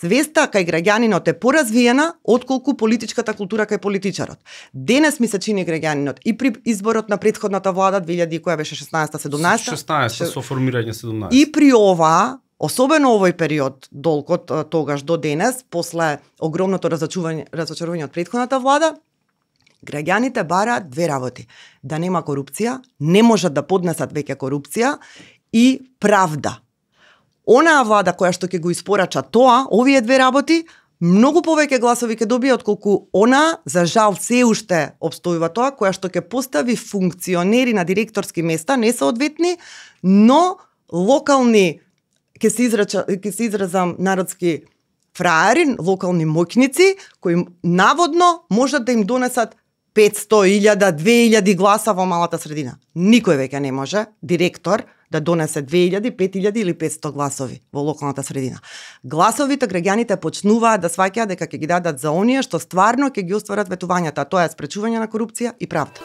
свеста кај граѓанинот е поразвиена отколку политичката култура кај политичарот. Денес ми се чини граѓанинот и при изборот на претходната влада 2000 која беше 16-17 со формирање 17 и при ова, особено овој период долг од тогаш до денес, после огромното разочарување од претходната влада, граѓаните бараат две работи: да нема корупција, не можат да поднесат веќе корупција, и правда. Онаа влада која што ќе го испорача тоа, овие две работи, многу повеќе гласови ќе добие отколку она, за жал се уште обстојува тоа, која што ќе постави функционери на директорски места, не соодветни, но локални, ќе се изразам народски, фраери, локални моќници, кои наводно можат да им донесат 500.000, 2.000 гласа во малата средина. Никој веќе не може директор да донесе 2.000, 5.000 или 500 гласови во локалната средина. Гласовите граѓаните почнуваат да сваќаат дека ќе ги дадат за оние што стварно ќе ги остварат ветувањата, тоа е спречување на корупција и правда.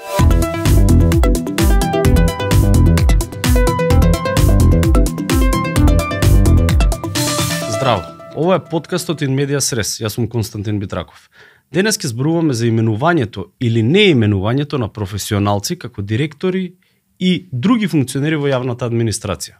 Здраво. Ова е подкастот In Medias Res. Јас сум Константин Битраков. Денес ќе зборуваме за именувањето или неименувањето на професионалци како директори и други функционери во јавната администрација.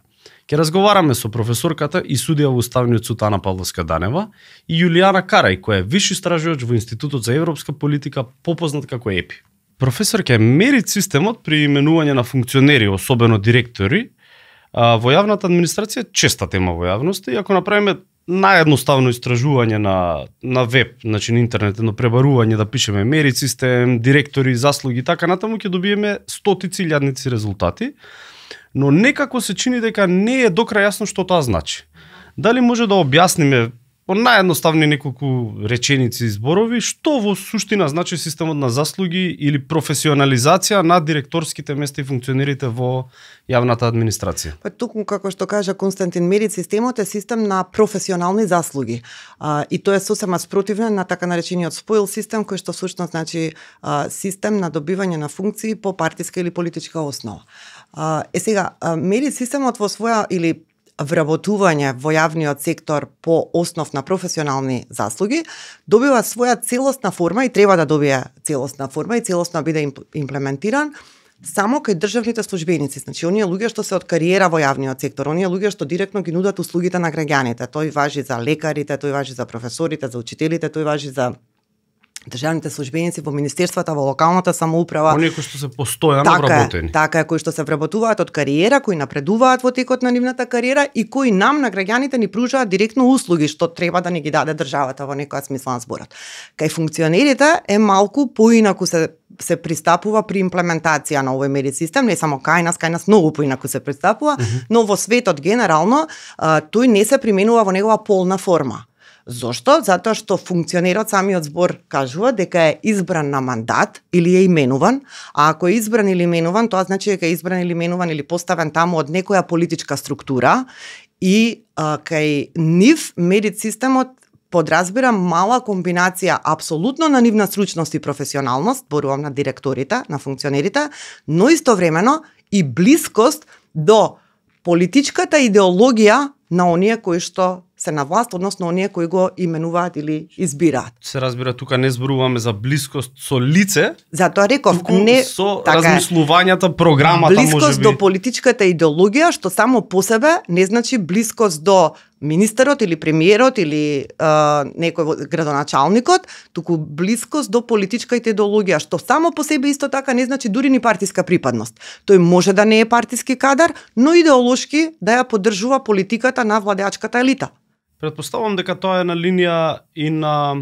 Ќе разговараме со професорката и судија во Уставниот суд Ана Павловска-Данева и Јулијана Карај, која е виш истражувач во Институтот за европска политика, попознат како ЕПИ. Професорка, мерит системот при именување на функционери, особено директори, во јавната администрација честа тема во јавноста, и ако направиме наједноставно истражување на веб, значи на интернет, едно пребарување да пишеме мерит систем, директори, заслуги и така натаму, ќе добиеме стотици илјадници резултати, но некако се чини дека не е докрај јасно што тоа значи. Дали може да објасниме по наједноставни неколку реченици и зборови што во суштина значи системот на заслуги или професионализација на директорските места и функционерите во јавната администрација? Па токму како што кажа Константин, мерит системот е систем на професионални заслуги. И тоа е сосема спротивно на така наречениот споил систем, кој што всушност значи систем на добивање на функции по партиска или политичка основа. Сега, мерит системот во своја или вработување во јавниот сектор по основ на професионални заслуги добива своја целосна форма и треба да добие целосна форма и целосно биде имплементиран само кај државните службеници, значи оние луѓе што се од кариера во јавниот сектор, оние луѓе што директно ги нудат услугите на граѓаните. Тој важи за лекарите, тој важи за професорите, за учителите, тој важи за државните службеници во министерствата, во локалната самоуправа. Оние кои што се постојано вработени. Така е, кои што се вработуваат од кариера, кои напредуваат во текот на нивната кариера и кои нам на граѓаните ни пружаат директно услуги што треба да ни ги даде државата во некоја смисла на зборот. Кај функционерите е малку поинаку се пристапува при имплементација на овој мерит систем, не само кај нас многу поинаку се пристапува, но во светот генерално тој не се применува во негова полна форма. Зошто? Затоа што функционерот, самиот збор кажува дека е избран на мандат или е именуван, а ако е избран или именуван, тоа значи дека е избран или именуван или поставен таму од некоја политичка структура и кај нив мерит системот подразбира мала комбинација апсолутно на нивна стручност и професионалност, зборувам на директорите, на функционерите, но истовремено и блискост до политичката идеологија на оние кои што се на власт, односно оние кои го именуваат или избираат. Се разбира, тука не зборуваме за блискост со лице, затоа реков, не со така размислувањата, програмата, блискост до политичката идеологија, што само по себе не значи блискост до министерот или премиерот или некој градоначалникот, туку блискост до политичката идеологија, што само по себе исто така не значи дури ни партиска припадност. Тој може да не е партиски кадар, но идеолошки да ја поддржува политиката на владеачката елита. Претпоставувам дека тоа е на линија и на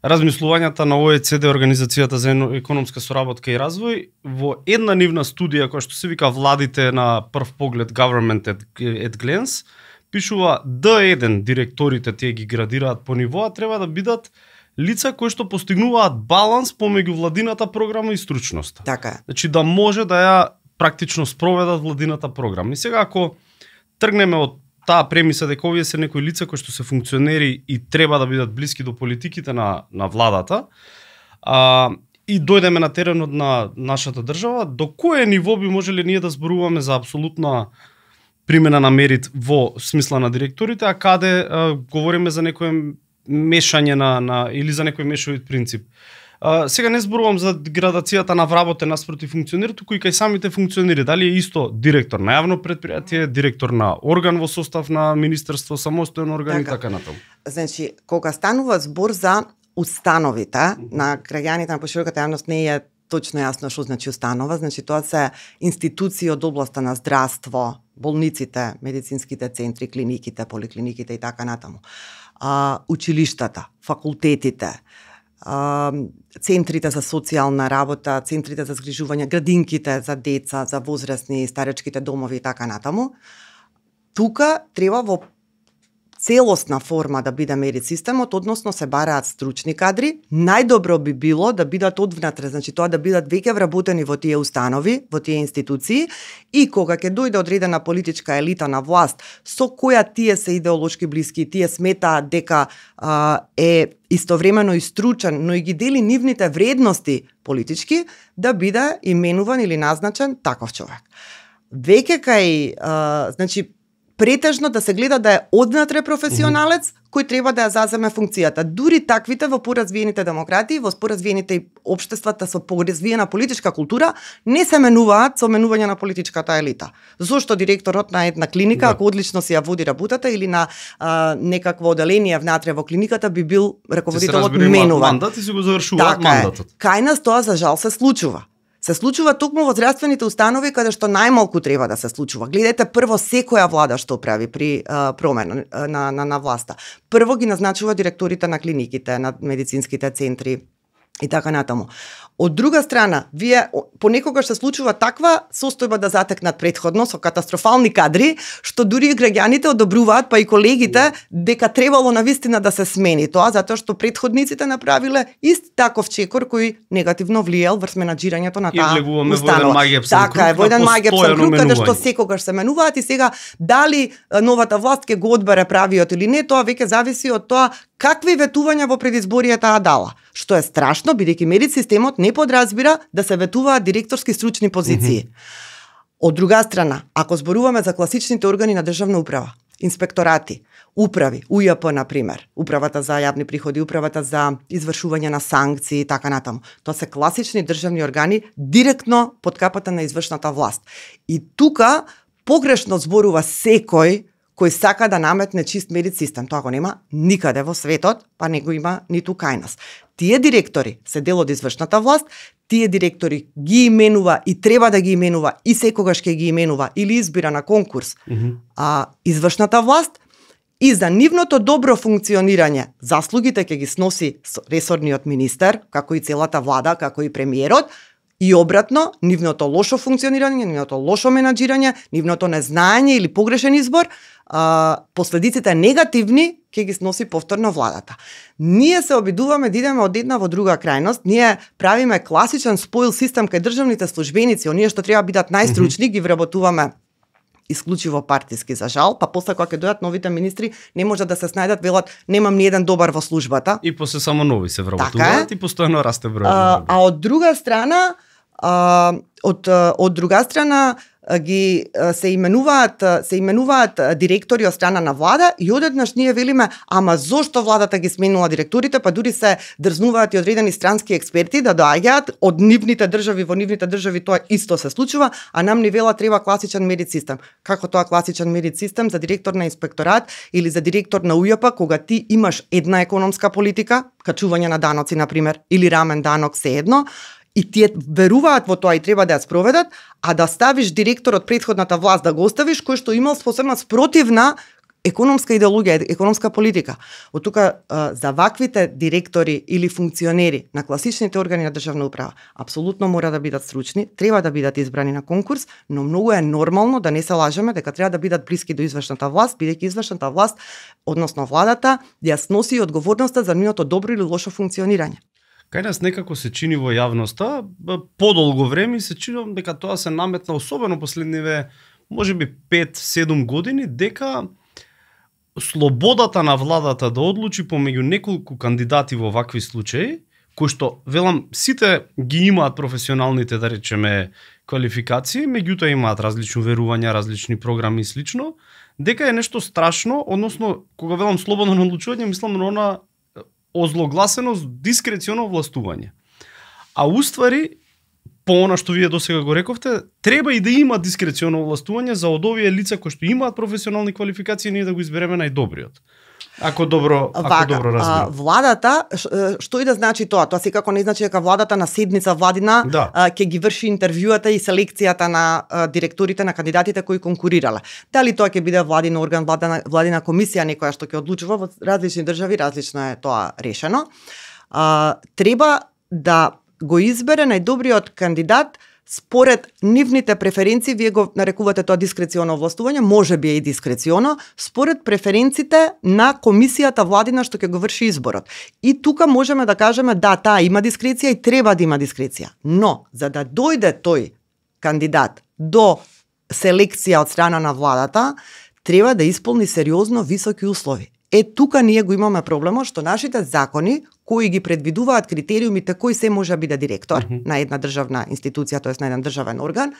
размислувањата на ОЕЦД, Организацијата за економска соработка и развој, во една нивна студија која што се вика Владите на прв поглед, Government at Glance, пишува D1 директорите, тие ги градираат по нивоа, треба да бидат лица кои што постигнуваат баланс помеѓу владината програма и стручноста. Така е. Значи да може да ја практично спроведат владината програма. И сега ако тргнеме од таа премиса дека овие се некои лица кои што се функционери и треба да бидат блиски до политиките на владата, и дојдеме на теренот на нашата држава, до кое ниво би можеле ние да зборуваме за апсолутна примена на мерит во смисла на директорите, а каде говориме за некое мешање на или за некој мешовит принцип. Сега не зборувам за градацијата на вработен наспроти функционер, туку и кај самите функционери. Дали е исто директор на јавно претпријатие, директор на орган во состав на министерство, самостоен орган и така натаму. Значи, кога станува збор за установите на граѓаните, на пошироката јавност не е точно јасно што значи установа. Значи, тоа се институции од областа на здравство, болниците, медицинските центри, клиниките, поликлиниките и така натаму. Училиштата, факултетите, центрите за социјална работа, центрите за згрижување, градинките за деца, за возрастни, старечките домови и така натаму. Тука треба во целосна форма да биде мерит системот, односно се бараат стручни кадри. Најдобро би било да бидат одвнатре, значи тоа да бидат веќе вработени во тие установи, во тие институции, и кога ќе дојде одредена политичка елита на власт, со која тие се идеолошки блиски, тие сметаат дека е истовремено и стручен, но и ги дели нивните вредности политички, да биде именуван или назначен таков човек. Веќе кај, значи, претежно да се гледа да е однатре професионалец кој треба да ја заземе функцијата. Дури таквите во поразвиените демократии, во поразвиените општествата со поразвиена политичка култура, не се менуваат со менување на политичката елита. Зошто директорот на една клиника, ако одлично си ја води работата, или на некакво оделение внатре во клиниката, би бил раководителот менуван. Мандат и се го завршуваат мандатот. Кај нас тоа за жал се случува. Се случува токму во здравствените установи каде што најмалку треба да се случува. Гледате прво секоја влада што прави при промена на власта. Прво ги назначува директорите на клиниките, на медицинските центри и така натаму. Од друга страна, вие понекогаш се случува таква состојба да затекнат претходно со катастрофални кадри, што дури и граѓаните одобруваат, па и колегите, дека требало навистина да се смени тоа, затоа што претходниците направиле ист таков чекор кој негативно влијал врз менаџирањето на таа установа. Така е, во еден маѓепсен круг, каде што секогаш се менуваат, и сега дали новата власт ќе го одбере правиот или не, тоа веќе зависи од тоа какви ветувања во предизборијата дала. Што е страшно, бидејќи мерит системот не подразбира да се ветуваат директорски стручни позиции. Од друга страна, ако зборуваме за класичните органи на државна управа, инспекторати, управи, УЈП, например, управата за јавни приходи, управата за извршување на санкции и така натаму, тоа се класични државни органи директно под капата на извршната власт. И тука погрешно зборува секој кој сака да наметне чист мерит систем. Тоа го нема никаде во светот, па не го има ниту кај нас. Тие директори се дел од извршната власт, тие директори ги именува и треба да ги именува и секогаш ќе ги именува или избира на конкурс извршната власт, и за нивното добро функционирање заслугите ќе ги сноси ресорниот министер, како и целата влада, како и премиерот, и обратно, нивното лошо функционирање, нивното лошо менаџирање, нивното незнаење или погрешен избор, последиците негативни ќе ги сноси повторно владата. Ние се обидуваме да идеме од една во друга крајност, ние правиме класичен споил систем кај државните службеници, оние што треба бидат најстручни, ги вработуваме исклучиво партиски за жал, па после кога ќе дојдат новите министри, не може да се снајдат, велат немам ни еден добар во службата. И после само нови се вработуваат и постојано расте бројот. А од друга страна, од друга страна ги се именуваат директори од страна на влада, и одеднаш ние велиме, ама зошто владата ги сменила директорите, па дури се дрзнуваат и одредени странски експерти да доаѓаат од нивните држави, во нивните држави тоа исто се случува, а нам ни вела треба класичен мерит систем. Како тоа класичен мерит систем за директор на инспекторат или за директор на УЈП, кога ти имаш една економска политика, качување на даноци например, или рамен данок, се едно, и тие веруваат во тоа и треба да ја спроведат, а да ставиш директор од претходната власт, да го оставиш кој што имал способна спротивна економска идеологија, економска политика. Од тука за ваквите директори или функционери на класичните органи на државна управа апсолутно мора да бидат стручни, треба да бидат избрани на конкурс, но многу е нормално да не се лажеме дека треба да бидат блиски до извршната власт, бидејќи извршната власт, односно владата, ја сноси одговорноста за нивното добро или лошо функционирање. Кај нас некако се чини во јавноста, подолго време се чини дека тоа се наметна, особено последниве, можеби 5-7 години, дека слободата на владата да одлучи помеѓу неколку кандидати во вакви случаи, кои што, велам, сите ги имаат професионалните, да речеме, квалификации, меѓутоа имаат различни верувања, различни програми и слично, дека е нешто страшно, односно, кога велам слободно одлучување, мислам на она озлогласено дискреционо властување. А уствари, по она што вие досега го рековте, треба и да има дискреционо властување за од овие лица кои што имаат професионални квалификации, ние да го избереме најдобриот. Ако добро разбирам. Владата, што и да значи тоа? Тоа секако не значи дека владата на седница владина ќе ги врши интервјуата и селекцијата на директорите на кандидатите кои конкурирале. Дали тоа ќе биде владин орган, владина комисија, некоја што ќе одлучува, во различни држави различно е тоа решено. Треба да го избере најдобриот кандидат според нивните преференции, вие го нарекувате тоа дискреционо властување, може би е и дискреционо, според преференциите на комисијата владина што ќе го врши изборот. И тука можеме да кажеме да, таа има дискреција и треба да има дискреција. Но, за да дојде тој кандидат до селекција од страна на владата, треба да исполни сериозно високи услови. Тука ние го имаме проблемот што нашите закони кои ги предвидуваат критериумите кој се може да биде директор на една државна институција, тоест на еден државен орган,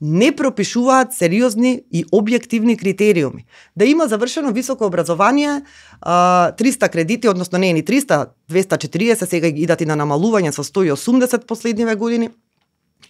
не пропишуваат сериозни и објективни критериуми. Да има завршено високо образование, 300 кредити, односно не ни 300, 240, сега идат и на намалување со 180 последниве години,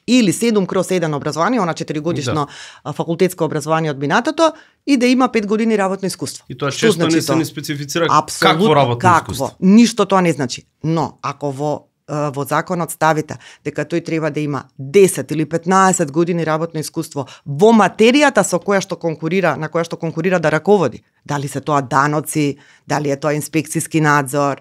или 7/1 образование, она 4-годишно факултетско образование од минатото, и да има 5 години работно искуство. И тоа често не се ни специфицира какво работно искуство. Ништо тоа не значи. Но, ако во законот ставите дека тој треба да има 10 или 15 години работно искуство во материјата со која што конкурира, на која што конкурира да раководи, дали се тоа даноци, дали е тоа инспекцијски надзор,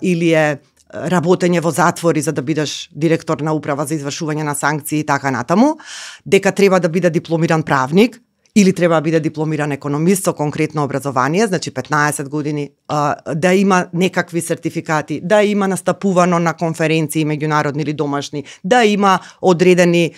или е работење во затвори за да бидеш директор на управа за извршување на санкции и така натаму, дека треба да биде дипломиран правник или треба да биде дипломиран економист со конкретно образование, значи 15 години, да има некакви сертификати, да има настапувано на конференции меѓународни или домашни, да има одредени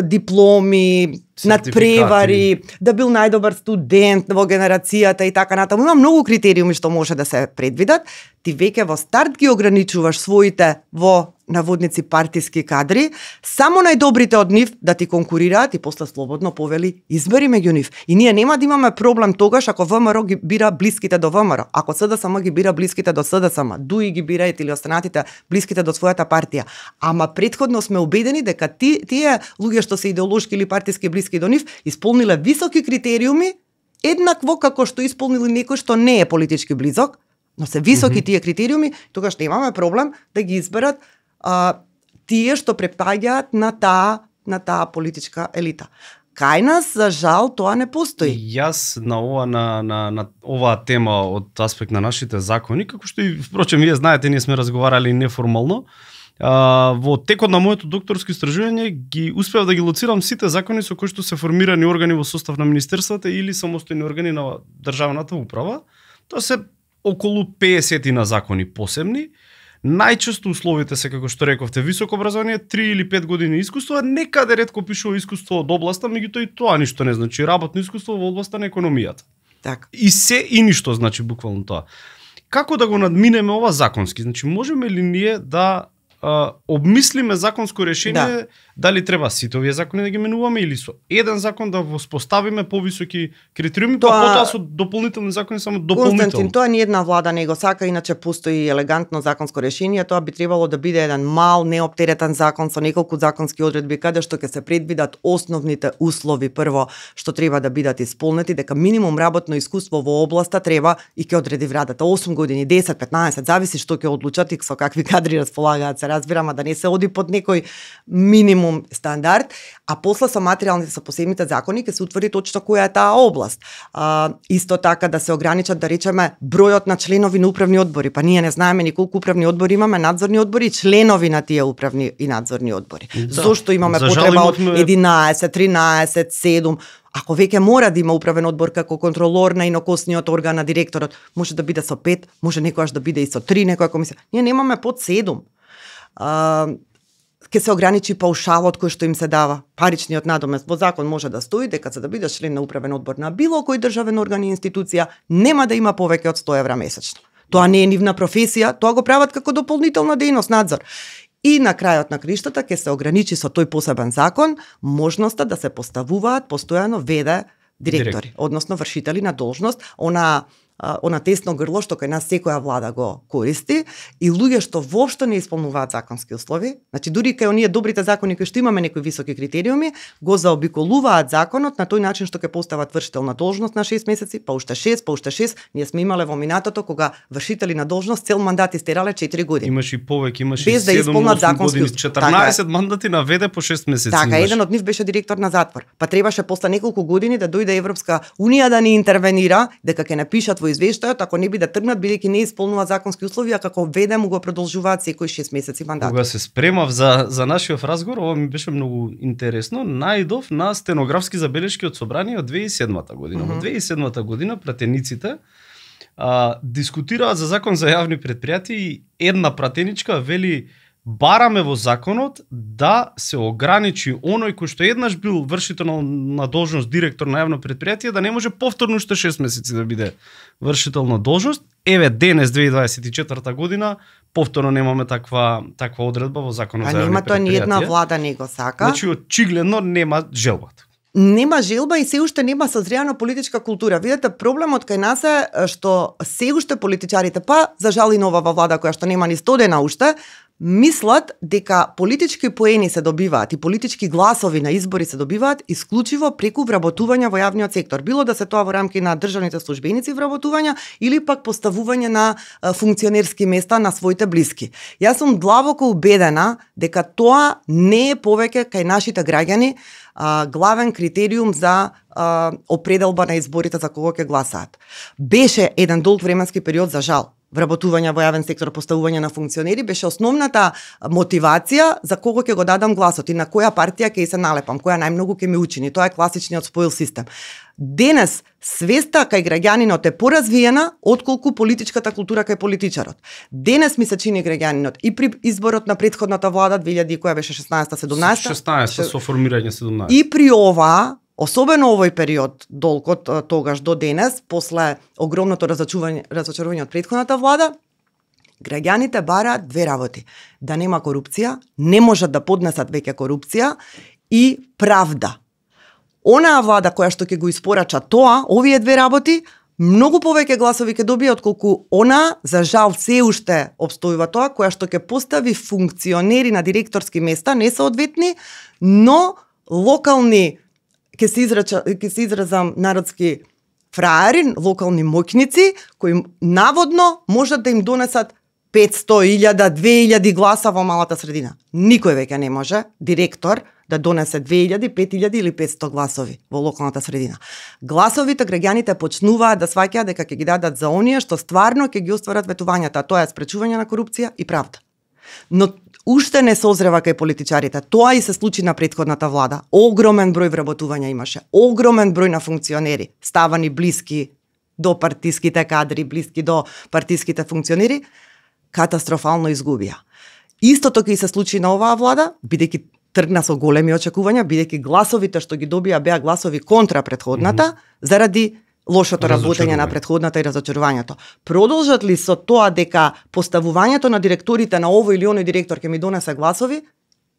дипломи, надпревари, да бил најдобар студент во генерацијата и така натаму. Има многу критериуми што може да се предвидат. Ти веќе во старт ги ограничуваш своите во наводници партиски кадри, само најдобрите од нив да ти конкурираат и после слободно повели избери меѓу нив. И ние нема да имаме проблем тогаш ако ВМРО ги бира блиските до ВМРО, ако СДСМ ги бира блиските до СДСМ, ДУИ ги бираат или останатите блиските до својата партија. Ама претходно сме убедени дека тие луѓе што се идеолошки или партиски блиски до нив исполниле високи критериуми, еднакво како што исполнили некој што не е политички близок, но се високи тие критериуми, тогаш немаме проблем да ги изберат тие што препаѓаат на таа политичка елита. Кај нас, за жал, тоа не постои. Јас на оваа тема од аспект на нашите закони, како што и впрочем вие знаете, ние сме разговарали неформално, во текот на моето докторско истражување ги успеав да ги лоцирам сите закони со кои што се формирани органи во состав на министерствата или самостојни органи на државната управа. Тоа се околу 50 на закони посебни. Најчесто условите се, како што рековте, високо образование, 3 или 5 години искуство, некаде ретко пишува искуство од областа, меѓутоа и тоа ништо не значи, работно искуство во областа на економијата. Так. И се и ништо значи буквално тоа. Како да го надминеме ова законски? Значи можеме ли ние да обмислиме законско решение, дали треба сите овие закони да ги менуваме или со еден закон да воспоставиме повисоки критериуми, па потоа со дополнителни закони само дополнително. Константин, тоа ни една влада не го сака, иначе постои елегантно законско решение, тоа би требало да биде еден мал, неоптеретен закон со неколку законски одредби каде што ќе се предвидат основните услови прво што треба да бидат исполнети, дека минимум работно искуство во областа треба и ќе одреди владата 8 години, 10, 15, зависи што ќе одлучат и со какви кадри располагаат, се разбирам, да не се оди под некој минимум стандард, а после со материјалните, со посебните закони ќе се утврди точно која е таа област. Исто така да се ограничат, да речеме, бројот на членови на управни одбори, па ние не знаеме ни колку управни одбори имаме, надзорни одбори и членови на тие управни и надзорни одбори. Зошто имаме потреба од 11, 13, 7? Ако веќе мора да има управен одбор како контролор на инокосниот орган на директорот, може да биде со 5, може некојаш да биде и со 3, некоја комисија. Ние немаме под 7. Ке се ограничи паушалот кој што им се дава, паричниот надомест. Во закон може да стои дека за да бидеш член на управен одбор на било кој државен орган и институција, нема да има повеќе од 100 евра месечно. Тоа не е нивна професија, тоа го прават како дополнителна дејност, надзор. И на крајот на криштата ќе се ограничи со тој посебен закон можноста да се поставуваат постојано ВД директори, односно вршители на должност, она тесно грло што кај нас секоја влада го користи и луѓе што воопшто не исполнуваат законски услови, значи дури кај оние добрите закони кои што имаме некои високи критериуми, го заобиколуваат законот на тој начин што ќе постават вршител на должност на 6 месеци, па уште 6, ние сме имале во минатото кога вршители на должност цел мандат истерале 4 години. Имаше и повеќе, имаше без да исполнат законски години, 14 мандати на ВД по 6 месеци. Така, еден од нив беше директор на затвор. Па требаше после неколку години да дојде Европска унија да ни интервенира, дека ќе напишат во извештајот ако не би да тргнат бидејќи не исполнуваат законски услови, а како ВД му го продолжуваат секој 6 месеци мандат. Кога се спремав за нашиот разговор, ова ми беше многу интересно, најдов на стенографски забелешки од собрание од 2007 година. Во 2007 година пратениците дискутираат за закон за јавни предпријатија и една пратеничка вели бараме во законот да се ограничи оној кој што еднаш бил вршител на должност директор на јавно предпријатие да не може повторно уште 6 месеци да биде вршител на должност. Еве денес 2024 година повторно немаме таква одредба во законот за јавни предпријатија. Нема тоа ни една влада не го сака. Значи очигледно нема желбата. Нема желба и се уште нема созряна политичка култура. Видете, проблемот кај нас е што се уште политичарите, па за жал и новава влада која што нема ни 100 дена уште, мислат дека политички поени се добиваат и политички гласови на избори се добиваат исклучиво преку вработување во јавниот сектор. Било да се тоа во рамки на државните службеници вработувања или пак поставување на функционерски места на своите блиски. Јас сум длабоко убедена дека тоа не е повеќе кај нашите граѓани главен критериум за определба на изборите за кого ќе гласаат. Беше еден долг временски период за жал. Вработување во јавен сектор, поставување на функционери беше основната мотивација за кого ќе го дадам гласот и на која партија ќе се налепам, која најмногу ќе ми учини. Тоа е класичниот споил систем. Денес свеста кај граѓанинот е поразвиена отколку политичката култура кај политичарот. Денес ми се чини граѓанинот и при изборот на претходната влада 2000 која беше 16-17 со формирање 17 и при ова, особено овој период, долг од тогаш до денес, после огромното разочарување од претходната влада, граѓаните бараат две работи. Да нема корупција, не можат да поднесат веќе корупција и правда. Онаа влада која што ќе го испорача тоа, овие две работи, многу повеќе гласови ќе добие отколку она, за жал се уште обстојува тоа, која што ќе постави функционери на директорски места, несоодветни, но локални ќе се изразам народски фраери, локални моќници, кои наводно можат да им донесат 500, 1000, 2000 гласа во малата средина. Никој веќе не може, директор, да донесе 2000, 5000 или 500 гласови во локалната средина. Гласовите граѓаните почнуваат да сваќаат дека ќе ги дадат за оние што стварно ќе ги остварат ветувањата, а тоа е спречување на корупција и правда. Но уште не созрева кај политичарите. Тоа и се случи на претходната влада. Огромен број вработувања имаше. Огромен број на функционери, ставани блиски до партиските кадри, блиски до партиските функционери, катастрофално изгубија. Истото ќе се случи на оваа влада, бидејќи тргна со големи очекувања, бидејќи гласовите што ги добија беа гласови контра претходната, заради лошото работење на претходната и разочарувањето. Продолжат ли со тоа дека поставувањето на директорите на овој или оној директор ќе ми донесе гласови,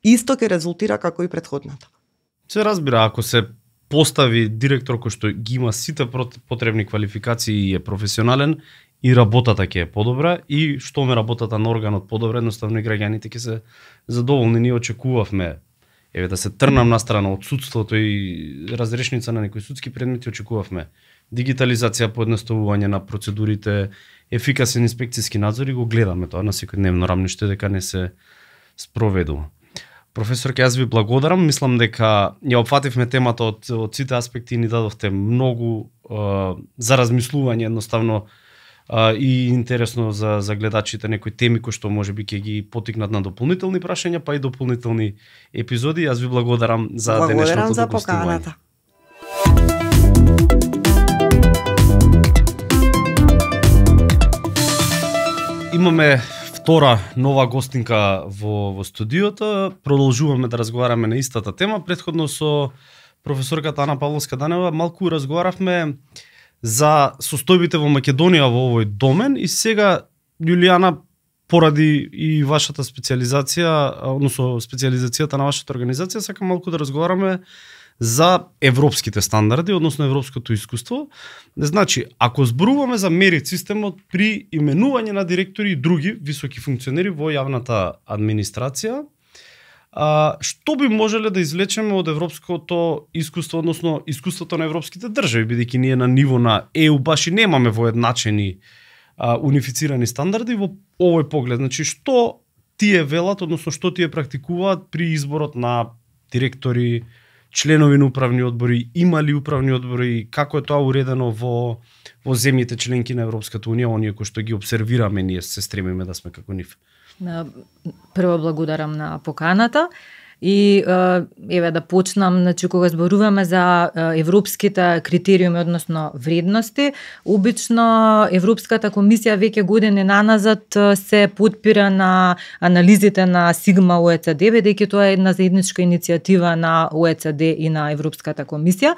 исто ќе резултира како и претходната. Се разбира, ако се постави директор кој што ги има сите потребни квалификации и е професионален, и работата ќе е подобра, и што ме работата на органот подобра, едноставно и граѓаните ќе се задоволни. Ние очекувавме, еве да се трнам на страна од судството и разрешница на некои судски предмети, очекувавме дигитализација, поедноставување на процедурите, ефикасен инспекцијски надзор, и го гледаме тоа на секојдневно рамниште дека не се спроведува. Професорке, јас ви благодарам. Мислам дека ја опфативме темата од сите аспекти и ни дадовте многу за размислување, едноставно и интересно за гледачите, некои теми кои што можеби ќе ги потикнат на дополнителни прашања, па и дополнителни епизоди. Јас ви благодарам за денешното за поканата. Имаме втора нова гостинка во студиото. Продолжуваме да разговараме на истата тема. Претходно со професорката Ана Павловска-Данева малку разговаравме за состојбите во Македонија во овој домен и сега Јулијана поради и вашата специализација, односно специализацијата на вашата организација, сакам малку да разговараме за европските стандарди, односно европското искуство. Значи, ако зборуваме за мерит системот при именување на директори и други високи функционери во јавната администрација, што би можеле да извлечеме од европското искуство, односно искуството на европските држави, бидејќи ние на ниво на ЕУ баш и немаме воедначени унифицирани стандарди во овој поглед. Значи, што тие велат, односно што тие практикуваат при изборот на директори, членови на управни одбори, има ли управни одбори, како е тоа уредено во земјите членки на Европската унија, оние кои што ги обсервираме, ние се стремиме да сме како нив. Прво благодарам на поканата. И еве да почнам, значи кога зборуваме за европските критериуми, односно вредности, обично Европската комисија веќе години наназад се потпира на анализите на Сигма ОЕЦД, бидејќи тоа е една заедничка иницијатива на ОЕЦД и на Европската комисија.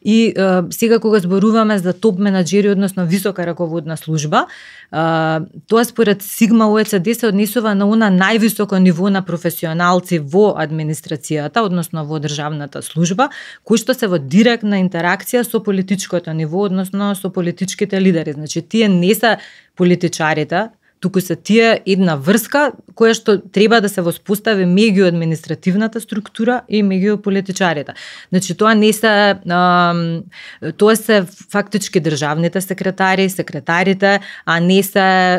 И сега кога зборуваме за топ менаџери, односно висока раководна служба, тоа според Сигма ОЕЦД се однесува на она највисоко ниво на професионалци во администрацијата, односно во државната служба, кои што се во директна интеракција со политичкото ниво, односно со политичките лидери. Значи, тие не се политичарите, туку се тие една врска која што треба да се воспостави меѓу административната структура и меѓу политичарите. Значи, тоа не се тоа се фактички државните секретари, секретарите, а не се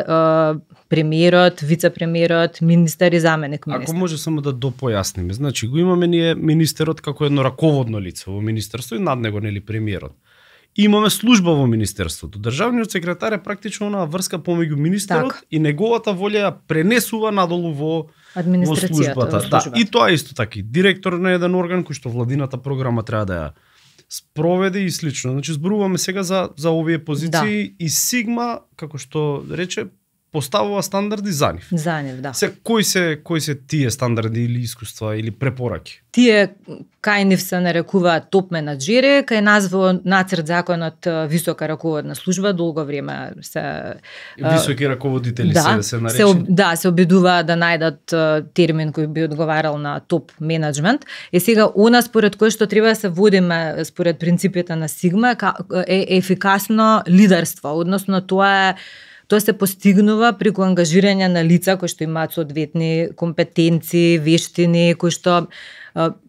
премиерот, вице-премиерот, министер и заменик министер. Ако може само да допојасниме, значи го имаме ние министерот како едно раководно лице во министерство и над него нели премиерот. Имаме служба во министерството. Државниот секретар е практично онаа врска помеѓу министерот и неговата волја ја пренесува надолу во службата. Да, и тоа исто така. Директор на еден орган кој што владината програма треба да ја спроведе и слично. Значи зборуваме сега за овие позиции и Сигма, како што рече, поставува стандарди за нив. За нив, да. Кои се тие стандарди или искуства или препораки? Тие кај нив се нарекуваат топ менаџери, кај нас во нацрт законот висока раководна служба долго време се високи раководители се наречени. Се обидуваат да најдат термин кој би одговарал на топ менеджмент. И сега она според кој што треба да се водиме според принципите на Сигма е ефикасно лидерство, односно тоа се постигнува преку ангажирање на лица кои што имаат соодветни компетенции, вештини, кои што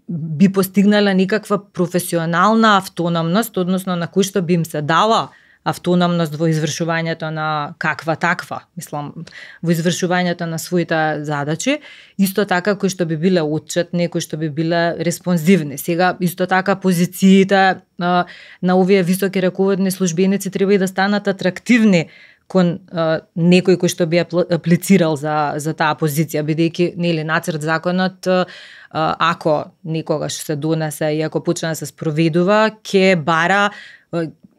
би постигнале некаква професионална автономност, односно на кои што би им се дала автономност во извршувањето на каква таква, мислам, во извршувањето на своите задачи, исто така кои што би биле отчетни, кои што би биле респонзивни. Сега исто така позициите на овие високи раководни службеници треба и да станат атрактивни кон некој кој што би аплицирал за таа позиција, бидејќи нели нацрт законот ако некогаш се донесе и ако почне да се спроведува,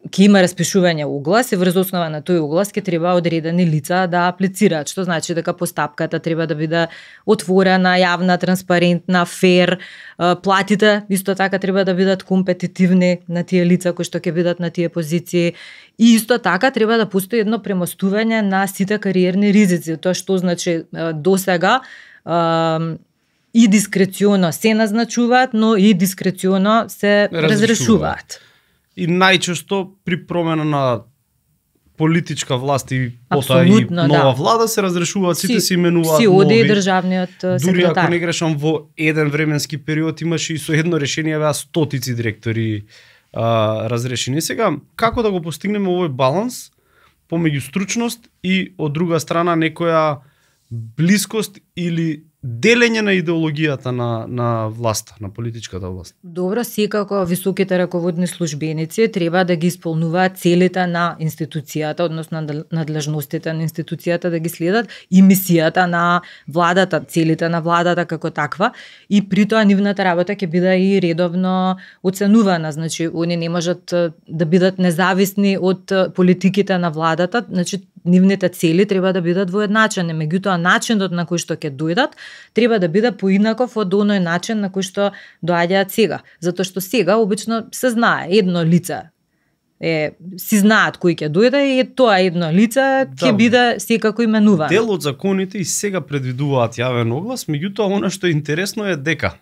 ќе има распишување оглас и врз основа на тој оглас ќе треба одредени лица да аплицираат, што значи дека постапката треба да биде отворена, јавна, транспарентна, фер, платите исто така треба да бидат компетитивни на тие лица кои што ќе бидат на тие позиции и исто така треба да постои едно премостување на сите кариерни ризици, тоа што значи досега и дискреционо се назначуваат, но и дискреционо се разрешуваат. И најчесто при промена на политичка власт и потоа и нова влада се разрешуваат, сите се именуваат нови. Си оди и државниот секретар. Дури ако не грешам, во еден временски период имаше и со едно решение беа стотици директори разрешени. Сега, како да го постигнеме овој баланс помеѓу стручност и од друга страна некоја блискост или делење на идеологијата на власта, на политичката власт? Добро, секако високите раководни службеници треба да ги исполнуваат целите на институцијата, односно надлежностите на институцијата да ги следат и мисијата на владата, целите на владата како таква и при тоа нивната работа ќе биде и редовно оценувана, значи они не можат да бидат независни од политиките на владата, значи нивните цели треба да бидат воедначени, меѓутоа начинот на кој што ќе дојдат треба да биде поинаков од оној начин на кој што доаѓаат сега, затоа што сега обично се знае едно лице си знаат кој ќе дојде и тоа едно лице ќе биде секако именувано. Дел од законите и сега предвидуваат јавен оглас, меѓутоа она што е интересно е дека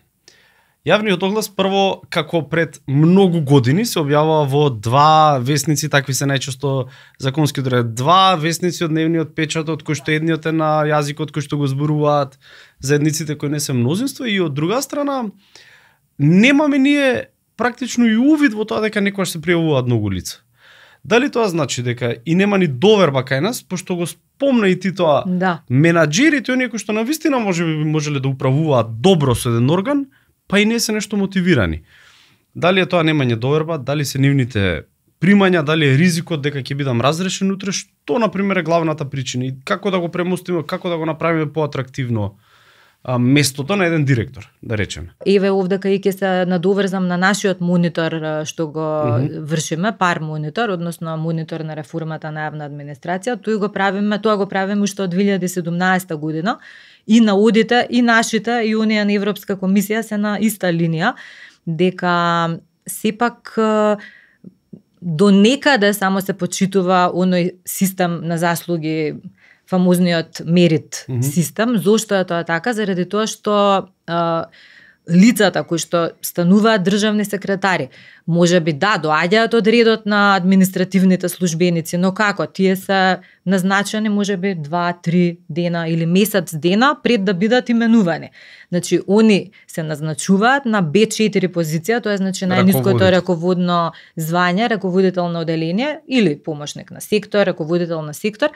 јавниот оглас прво како пред многу години се објавува во 2 весници, такви се најчесто законски одредби, 2 весници од дневниот печат, од кои што едниот е на јазикот кој што го зборуваат заедниците кои не се мнозинство, и од друга страна немаме ние практично и увид во тоа дека некогаш се пријавуваат многу лица. Дали тоа значи дека и нема ни доверба кај нас, пошто го спомна и ти тоа, менаџерите, оние кои што навистина можеле да управуваат добро со еден орган, па и не се нешто мотивирани. Дали е тоа немање доверба, дали се нивните примања, дали е ризикот дека ќе бидам разрешен утре, што на пример е главната причина и како да го премостиме, како да го направиме поатрактивно местото на еден директор, да речеме. Еве овдека и ќе се надоврзам на нашиот монитор што го вршиме, пар монитор, односно монитор на реформата на јавна администрација. Тоа го правиме уште од 2017 година и наудите и нашите и оние на Европска комисија се на иста линија, дека сепак до некаде само се почитува оној систем на заслуги, фамозниот мерит систем. Зошто е тоа така? Заради тоа што лицата кои што стануваат државни секретари, можеби доаѓаат од редот на административните службеници, но како? Тие се назначени можеби 2-3 дена или месец дена пред да бидат именувани. Значи, они се назначуваат на B4 позиција, тоа е значи најниското раководно звање, раководител на оделение или помошник на сектор, раководител на сектор.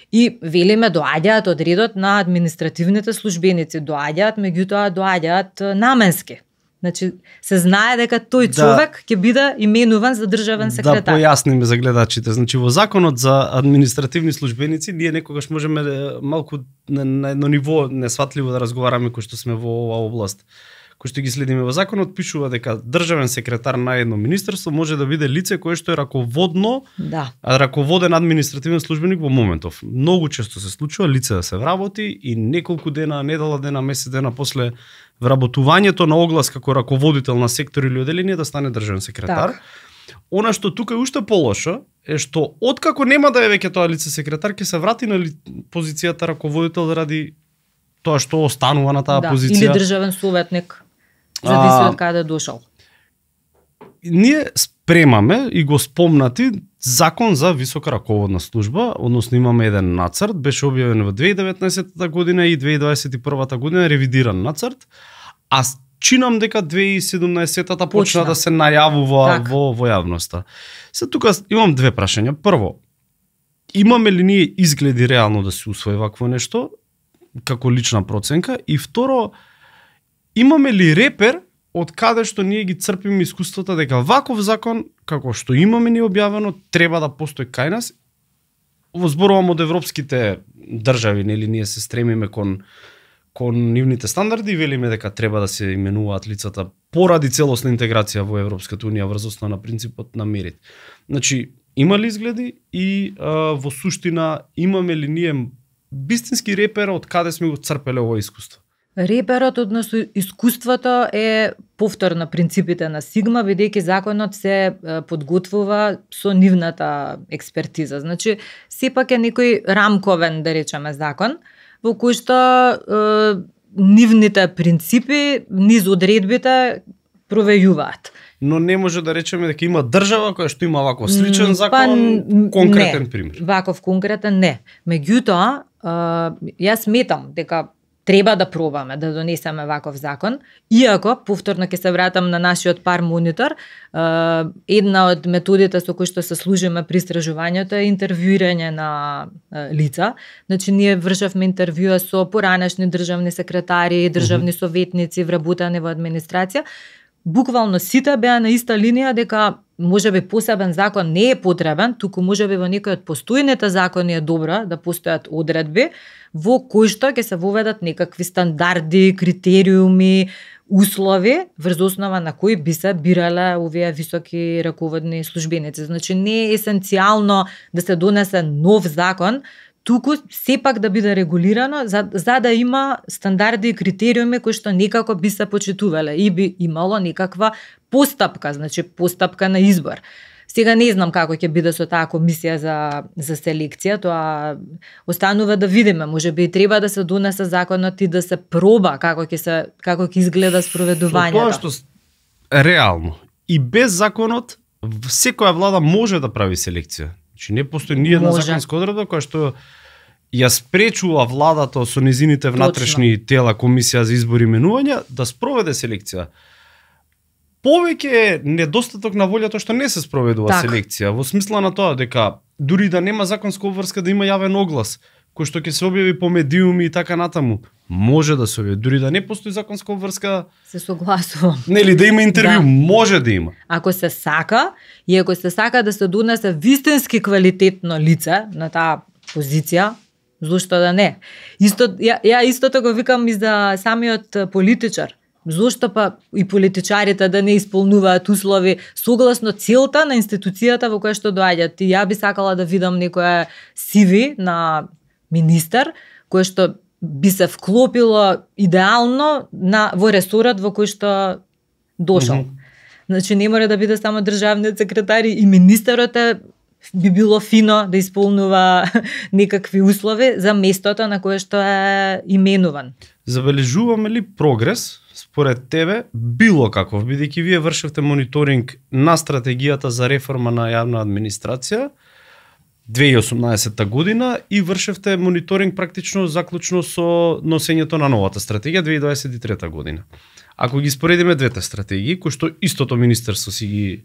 И велиме доаѓаат од редот на административните службеници, доаѓаат наменски. Значи се знае дека тој човек ќе биде именуван за државен секретар. Да појасниме за гледачите. Значи во законот за административни службеници ние некогаш можеме малку на едно ниво несватливо да разговараме кои што сме во оваа област. Кој што ги следиме во законот, пишува дека државен секретар на едно министерство може да биде лице кое што е раководен административен службеник во моментов. Многу често се случува лице да се вработи и неколку дена, недела дена, месец дена после вработувањето на оглас како раководител на сектор или оделение да стане државен секретар. Она што тука е уште полошо е што откако нема да е веќе тоа лице секретар, ќе се врати на позицијата раководител заради тоа што останува на таа позиција. Или државен советник. Зависи од каде дошол. Ние спремаме и го спомнати закон за висока раководна служба, односно имаме еден нацрт, беше објавен во 2019 година и 2021 година ревидиран нацрт, а чинам дека 2017-та почна да се најавува во јавноста. Се тука имам две прашања. Прво, имаме ли ние изгледи реално да се усвои вакво нешто како лична проценка, и второ, имаме ли репер од каде што ние ги црпиме искуството дека ваков закон, како што имаме ни објавено, треба да постои кај нас? Зборувам од европските држави, нели ние се стремиме кон нивните стандарди и велиме дека треба да се именуваат лицата поради целосна интеграција во Европската унија врз основа на принципот на мерит. Значи, има ли изгледи и во суштина имаме ли ние вистински репер од каде сме го црпеле ова искуство? Реперот, односно искуството, е повтор на принципите на Сигма, бидејќи законот се подготвува со нивната експертиза. Значи, сепак е некој рамковен, да речеме, закон, во кој што нивните принципи, низ одредбите провејуваат. Но не може да речеме дека има држава која што има ваков сличен закон, конкретен пример. Ваков конкретен не. Меѓутоа, јас сметам дека треба да пробаме да донесеме ваков закон, иако, повторно ќе се вратам на нашиот пар монитор, една од методите со кои што се служиме при истражувањето е интервјуирање на лица. Значи, ние вршевме интервјуа со поранешни државни секретари, државни советници, вработени во администрација. Буквално сите беа на иста линија дека можеби посебен закон не е потребен, туку можеби во некој од постојните закони е добро да постојат одредби во кои што ќе се воведат некакви стандарди, критериуми, услови врз основа на кои би се бирале овие високи раководни службеници. Значи не е есенцијално да се донесе нов закон, туку сепак да биде регулирано за да има стандарди и критериуми кои што некако би се почитувале и би имало некаква постапка, значи постапка на избор. Сега не знам како ќе биде со таа комисија за селекција, тоа останува да видиме. Можеби треба да се донесе законот и да се проба како ќе изгледа спроведувањето. Тоа што реално и без законот секоја влада може да прави селекција. Значи не постои ни една законска одредба која што ја спречува владата со незините внатрешни тела, комисија за избор и именувања, да спроведе селекција. Повеќе е недостаток на волјата што не се спроведува селекција, во смисла на тоа дека дури да нема законска обврска да има јавен оглас, кој што ќе се објави по медиуми и така натаму, може да се објави, дури да не постои законска обврска. Се согласувам. Нели да има интервју, може да има. Ако се сака и ако се сака да се донесе вистински квалитетно лице на таа позиција, зошто да не? Ја истото го викам и за самиот политичар. Зошто па и политичарите да не исполнуваат услови согласно целта на институцијата во која што доаѓаат. И ја би сакала да видам некоја CV на министер кој што би се вклопило идеално во ресорот во кој што дошол. Значи не мора да биде само државниот секретар и министерот би било фино да исполнува некакви услови за местото на кое што е именуван. Забележуваме ли прогрес според тебе било каков, бидејќи вие вршевте мониторинг на стратегијата за реформа на јавна администрација 2018 година и вршевте мониторинг практично заклучно со носењето на новата стратегија 2023 година. Ако ги споредиме двете стратегии, кои што истото министерство си ги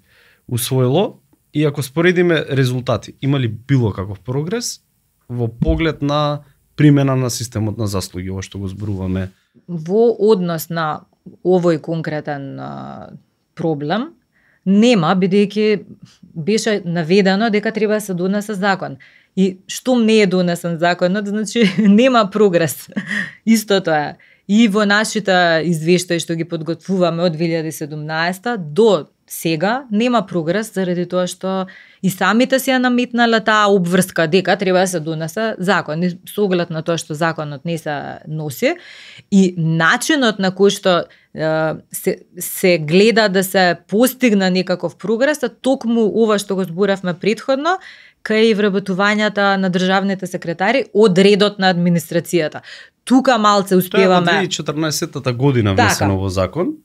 усвоило, и ако споредиме резултати, има ли било каков прогрес во поглед на примена на системот на заслуги, ова што го зборуваме? Во однос на овој конкретен проблем, нема, бидејќи беше наведено дека треба да се донесе закон. И штом не е донесен законот, значи нема прогрес. Истото е. И во нашите извештаи што ги подготвуваме од 2017 до сега нема прогрес заради тоа што и самите си ја наметнале таа обврска дека треба да се донесе закон. И со оглед на тоа што законот не се носи и начинот на кој што се гледа да се постигне некаков прогрес, токму ова што го зборавме претходно, кај вработувањата на државните секретари од редот на администрацијата. Тука малце успеваме. Тоа е 2014 година внесено во закон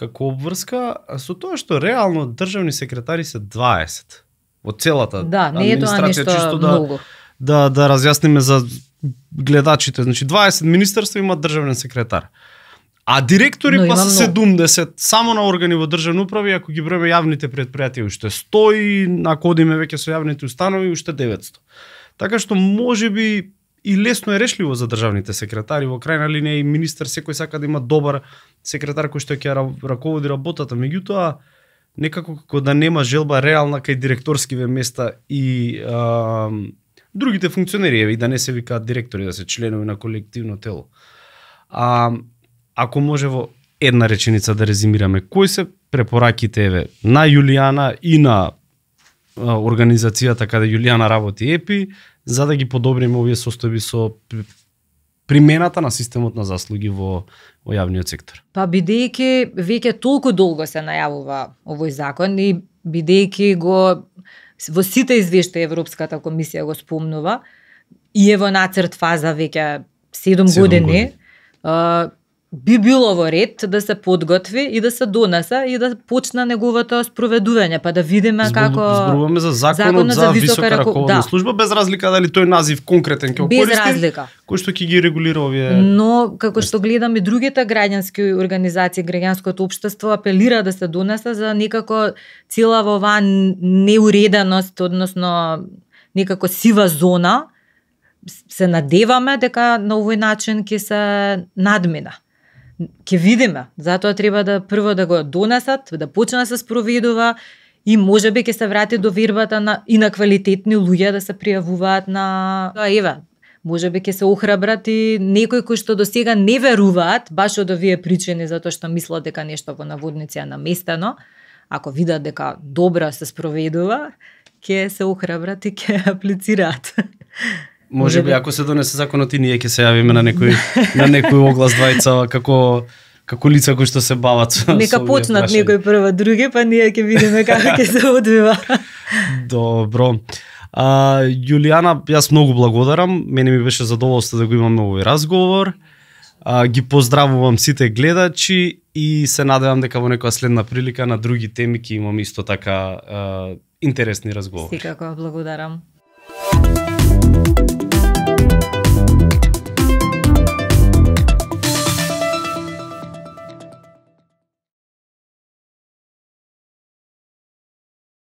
како обврска, со тоа што реално државни секретари се 20 во целата администрација, чисто да разјасниме за гледачите. Значи 20 министерства имаат државен секретар. А директори па се 70 само на органи во државна управа, ако ги броиме јавните предпријатија уште 100 и ако одиме веќе со јавните установи уште 900. Така што можеби и лесно е решливо за државните секретари, во крајна линија и министер секој сака да има добар секретар кој што ќе раководи работата, меѓутоа некако како да нема желба реална кај директорскиве места и другите функционери, и да не се викаат директори, да се членови на колективно тело. Ако може во една реченица да резимираме, кои се препораките на Јулијана и на организацијата каде Јулијана работи ЕПИ, за да ги подобриме овие состојби со примената на системот на заслуги во јавниот сектор? Па бидејќи веќе толку долго се најавува овој закон и бидејќи во сите извештаи Европската комисија го спомнува и е во нацрт фаза веќе 7 години. Би било во ред да се подготви и да се донесе и да почне неговото спроведување, па да видиме како зборуваме за законот за висока раководна служба, без разлика дали тој назив конкретен ќе користи, без разлика, кој што ќе ги регулира овие. Но како што гледам и другите граѓански организации, граѓанското општество апелира да се донесе за некако цела во оваа неуреденост, односно некако сива зона. Се надеваме дека на овој начин ќе се надмина. Ќе видиме, затоа треба да прво да го донесат, да почне да се спроведува и можеби ќе се врати до вербата и на квалитетни луѓе да се пријавуваат на можеби ќе се охрабрат и некои кои што до сега не веруваат, баш од овие причини, затоа што мислат дека нешто во наводници е наместено, ако видат дека добро се спроведува, ќе се охрабрат и ќе аплицираат. Можеби ако се донесе законот и ние ќе се јавиме на некој оглас двајца како како лица кои што се бават со Нека овие почнат прашања. некој прво други, па ние ќе видиме како ќе се одвива. Добро. Јулијана, јас многу благодарам. Мене ми беше задоволство да го имаме овој разговор. Ги поздравувам сите гледачи и се надевам дека во некоја следна прилика на други теми ќе имаме исто така интересни разговори. Секако благодарам.